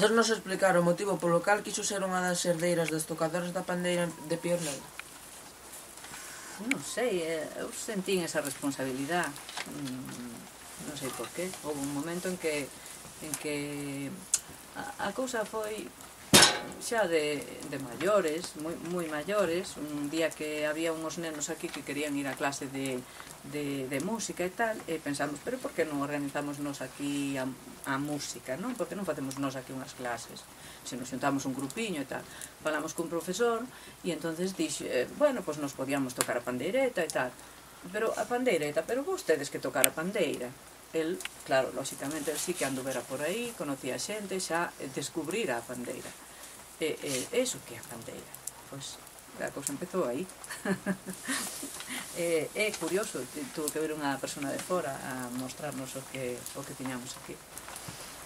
Podernos explicar o motivo polo cal quiso ser unha das herdeiras das tocadoras da pandeira de Piornedo? Non sei, eu sentín esa responsabilidade, non sei por qué. Houve un momento en que a cousa foi xa de maiores, moi maiores. Un día que había uns nenos aquí que querían ir a clase de música e tal, e pensamos, pero por que non organizamos nos aquí a música, non? Por que non facemos nos aquí unhas clases? Se nos xuntamos un grupiño e tal, falamos cun profesor e entonces dixo, bueno, pois nos podíamos tocar a pandeireta e tal, pero a pandeireta, pero vostedes que tocar a pandeira. El, claro, lóxicamente, el sí que anduvera por aí, conocía xente, xa descubrira a pandeira. E iso que é a pandeira? Pois a cousa empezou aí. É curioso, tuvo que ver unha persona de fora a mostrarnos o que tiñamos aquí.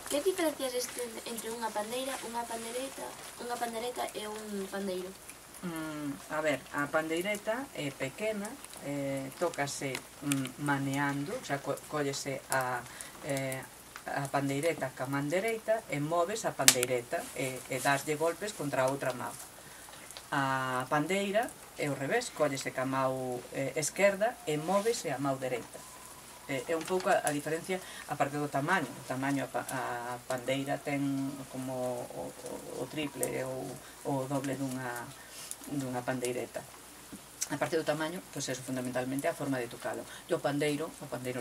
Que diferencias existen entre unha pandeira, unha pandereta e un pandeiro? A ver, a pandeireta é pequena, tócase maneando, xa collese a pandeireta ca man dereita e moves a pandeireta e daslle golpes contra a outra mão. A pandeira é o revés, collese ca mão esquerda e móvese a mão dereita. É un pouco a diferencia a parte do tamaño. O tamaño, a pandeira ten como o triple ou o doble dunha pandeireta. A parte do tamaño, pois é fundamentalmente a forma de tocalo. E o pandeiro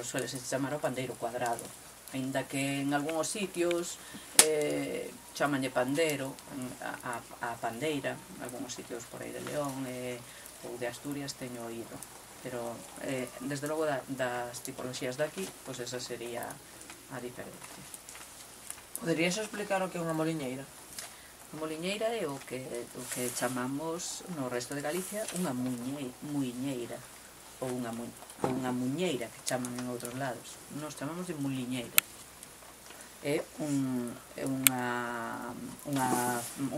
suele se chamar o pandeiro cuadrado, aínda que en algúns sitios chamanlle pandero a pandeira, en algúns sitios por aí de León ou de Asturias teño oído. Pero, desde logo, das tipoloxías daqui, pois esa sería a diferencia. Poderías explicar o que é unha moliñeira? A moliñeira é o que chamamos no resto de Galicia unha muiñeira ou unha muñeira, que chaman en outros lados. Nos chamamos de muliñeira. É un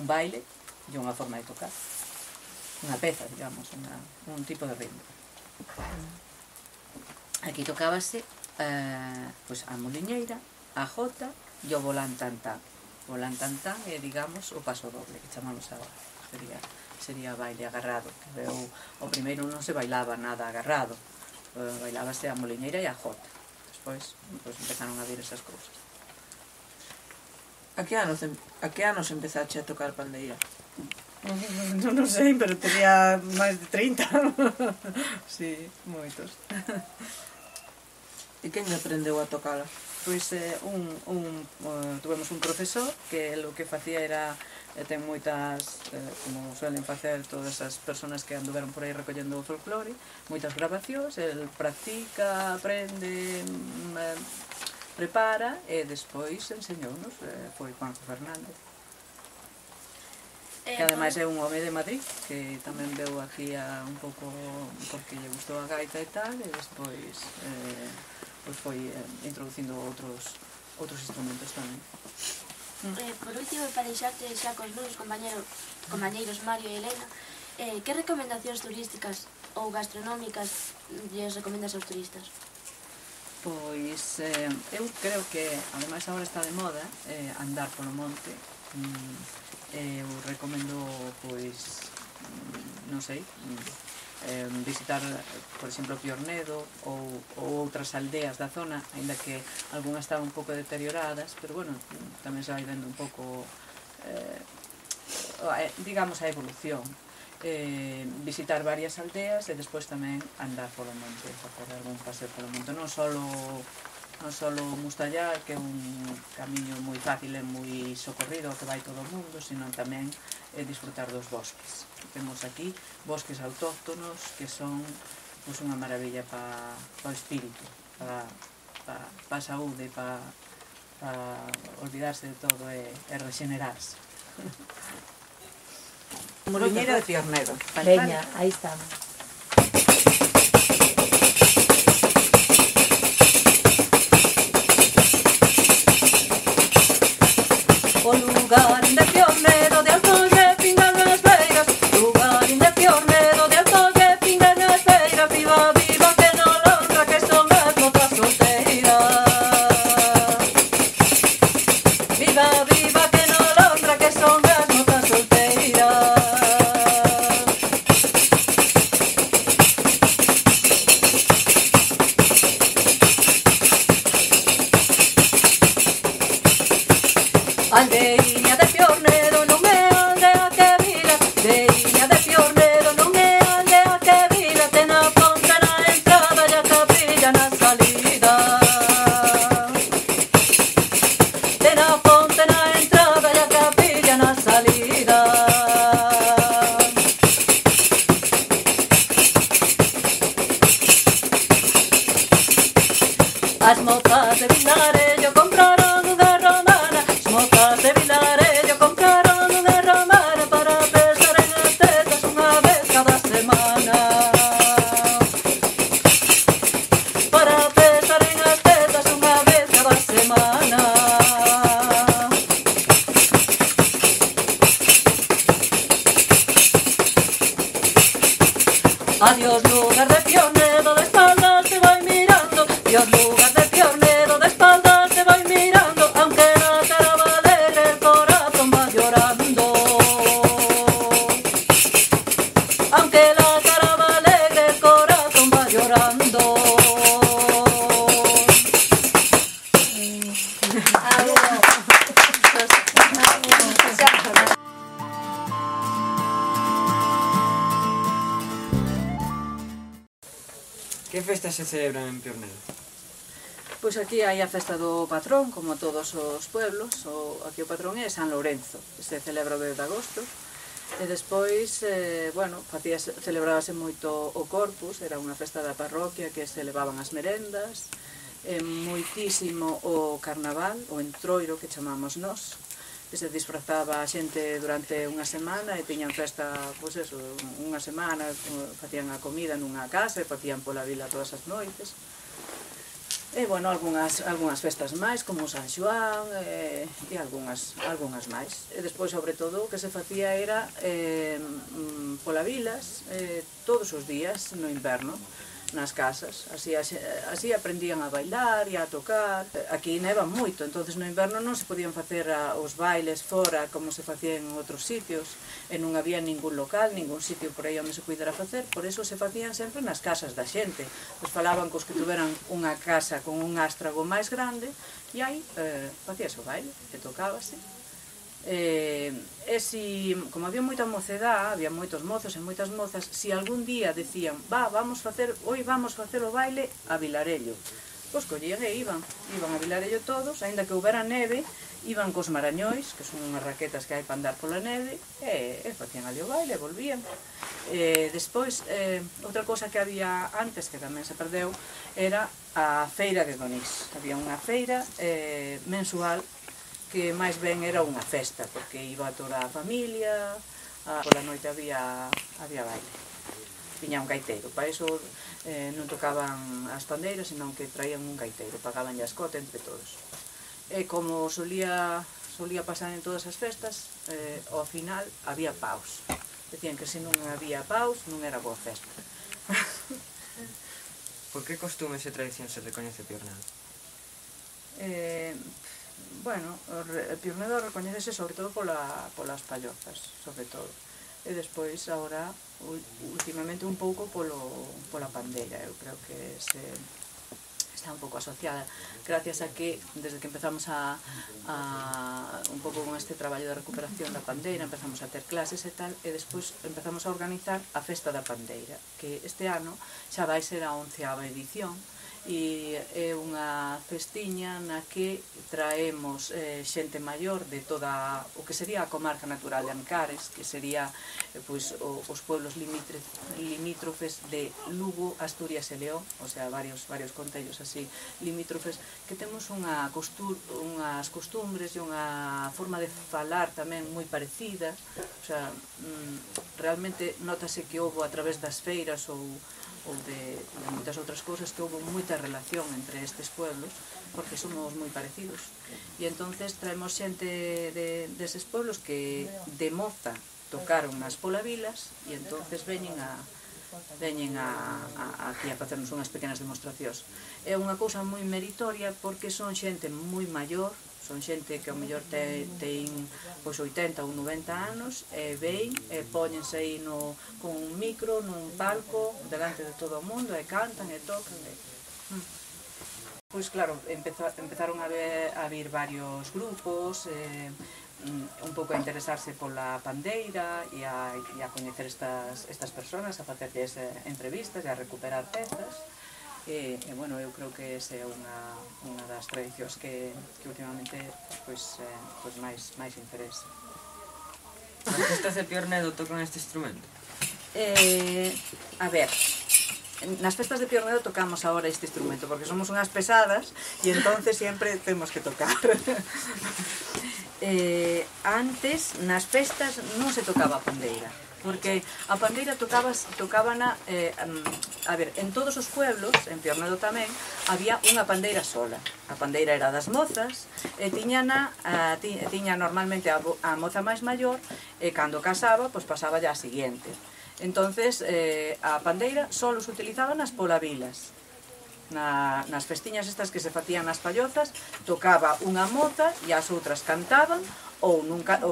baile e unha forma de tocar, unha peza, digamos, un tipo de ritmo. Aquí tocábase pois a moliñeira, a jota e o volantantán. O volantantán é, digamos, o paso doble que chamamos agora. Sería baile agarrado. O primeiro non se bailaba nada agarrado, bailábase a moliñeira e a jota. Despois empezaron a vir esas cousas. A que anos empezaste a tocar pandeira? Non sei, pero tenía máis de 30. Si, moitos. E quen aprendeu a tocala? Pois tuvemos un profesor que o que facía era ten moitas, como suelen facer todas as persoas que anduveron por aí recollendo o folclore, moitas grabacións, el practica, aprende, prepara e despois enseñounos, foi Juanjo Fernández. Que ademais é un home de Madrid, que tamén veu aquí un pouco porque lle gustou a gaita e tal, e despois foi introducindo outros instrumentos tamén. Por último, para deixarte xa cos meus compañeiros Mario e Elena, que recomendacións turísticas ou gastronómicas lles recomendas aos turistas? Pois eu creo que, ademais agora está de moda, andar polo monte. Eu recomendo, pois, non sei, visitar, por exemplo, Piornedo ou outras aldeas da zona, aínda que algunhas estaban un pouco deterioradas, pero, bueno, tamén se vai vendo un pouco, digamos, a evolución. Visitar varias aldeas e despois tamén andar polo monte, facer algún paseo polo monte, non só Mustallar, que é un camiño moi fácil e moi socorrido que vai todo o mundo, sino tamén disfrutar dos bosques. Temos aquí bosques autóctonos que son unha maravilla para o espírito, para a saúde, para olvidarse de todo e regenerarse. Moliñeira de Piornedo. Veña, aí estamos. O lugarín de Piornedo de altos que pingan as feiras, lugarín de Piornedo de altos que pingan as feiras, viva, viva que non honra que son mesmo outra solteira. Viva, viva que non de Piornedo non é aldea que vila, veiña de Piornedo non é aldea que vila, ten a ponte na entrada e a capilla na salida. Ten a ponte na entrada e a capilla na salida. As mozas de Vilarello compraron unha romana, as mozas de Vilarello compraron unha romana para pesar en as tetas unha vez cada semana. Para pesar en as tetas unha vez cada semana. Adiós lugar de Piornedo, de espaldas te vai mirando. Adiós lugar de Piornedo, de espaldas te vai mirando. Aunque la cara va alegre, el corazón va llorando. Aunque la cara va alegre, el corazón va llorando. Que festas se celebran en Piornedo? Pois aquí hai a festa do patrón, como todos os pueblos. Aquí o patrón é San Lourenzo, que se celebra o 10 de agosto. E despois, celebrábase moito o Corpus, era unha festa da parroquia que se levaban as merendas. Moitísimo o carnaval, o entroiro que chamamos nós, que se disfrazaba a xente durante unha semana e tiñan festa, pois eso, unha semana, facían a comida nunha casa e facían pola vila todas as noites. E, bueno, algunhas festas máis, como San Xoán e algunhas máis. E despois, sobre todo, o que se facía era pola vilas todos os días no inverno, nas casas, así aprendían a bailar e a tocar. Aquí neva moito, entonces no inverno non se podían facer os bailes fora como se facían en outros sitios, e non había ningún local, ningún sitio por aí onde se pudera facer, por eso se facían sempre nas casas da xente. Pues falaban cos que tuveran unha casa con un ástrago máis grande, e aí facíase o baile, e tocábase. Como había moita mocedad, había moitos mozos e moitas mozas, si algún día decían, hoy vamos facer o baile a Vilarello, pois collían e iban a Vilarello todos, aínda que houbera neve, iban cos marañois, que son unhas raquetas que hai para andar pola neve, e facían ali o baile e volvían. Despois, outra cosa que había antes, que tamén se perdeu, era a feira de Donís. Había unha feira mensual que máis ben era unha festa, porque iba toda a familia, pola noite había baile. Tiña un gaiteiro, para iso non tocaban as pandeiras, senón que traían un gaiteiro, pagaban a escote entre todos. E como solía pasar en todas as festas, ao final había paus. Decían que se non había paus, non era boa festa. Por que costumes e tradicións se recoñece Piornedo? Bueno, Piornedo recoñecese sobre todo polas pallozas, sobre todo. E despois, agora, últimamente un pouco pola pandeira. Eu creo que está un pouco asociada, gracias a que, desde que empezamos un pouco con este traballo de recuperación da pandeira, empezamos a ter clases e tal, e despois empezamos a organizar a Festa da Pandeira, que este ano xa vai ser a 11ª edición, e é unha festiña na que traemos xente maior de toda o que sería a comarca natural de Ancares, que sería os pueblos limítrofes de Lugo, Asturias e León, o sea, varios concellos así limítrofes, que temos unhas costumbres e unha forma de falar tamén moi parecida, o sea, realmente notase que houve a través das feiras ou de moitas outras cousas que houve moita relación entre estes pueblos, porque somos moi parecidos, e entonces traemos xente deses pueblos que de moza tocaron nas polavilas, e entonces veñen aquí a facernos unhas pequenas demostracións. É unha cousa moi meritoria porque son xente moi maior, son xente que ao mellor ten 80 ou 90 anos, e ven e póñense aí con un micro nun palco delante de todo o mundo e cantan e tocan. Pois claro, empezaron a vir varios grupos, un pouco a interesarse pola pandeira e a coñecer estas personas, a facerlles entrevistas e a recuperar pezas. E bueno, eu creo que esa é unha das tradicións que últimamente pois máis interesa. Nas festas de Piornedo tocan este instrumento? A ver, nas festas de Piornedo tocamos agora este instrumento porque somos unhas pesadas e entonces sempre temos que tocar. Antes, nas festas, non se tocaba a pandeira porque a pandeira tocábana a ver, en todos os pueblos, en Piornedo tamén, había unha pandeira sola. A pandeira era das mozas e tiña normalmente a moza máis maior e cando casaba, pois pasaba ya a seguinte. Entonces, a pandeira só se utilizaba nas polavilas. Nas festiñas estas que se facían nas pallozas, tocaba unha moza e as outras cantaban, ou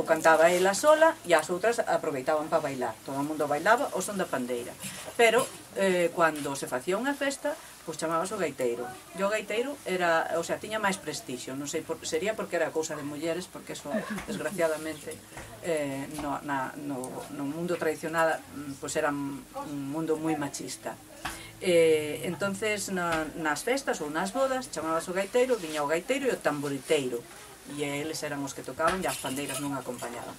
cantaba ela sola e as outras aproveitaban para bailar. Todo o mundo bailaba o son da pandeira. Pero, cando se facía unha festa, pois chamábase o gaiteiro. E o gaiteiro era, o sea, tiña máis prestixio, non sei, sería porque era cousa de mulleres, porque eso, desgraciadamente, no mundo tradicional, pois era un mundo moi machista. Entonces, nas festas ou nas bodas, chamábase o gaiteiro, viña o gaiteiro e o tamboriteiro, e eles eran os que tocaban e as pandeiras non acompañaban.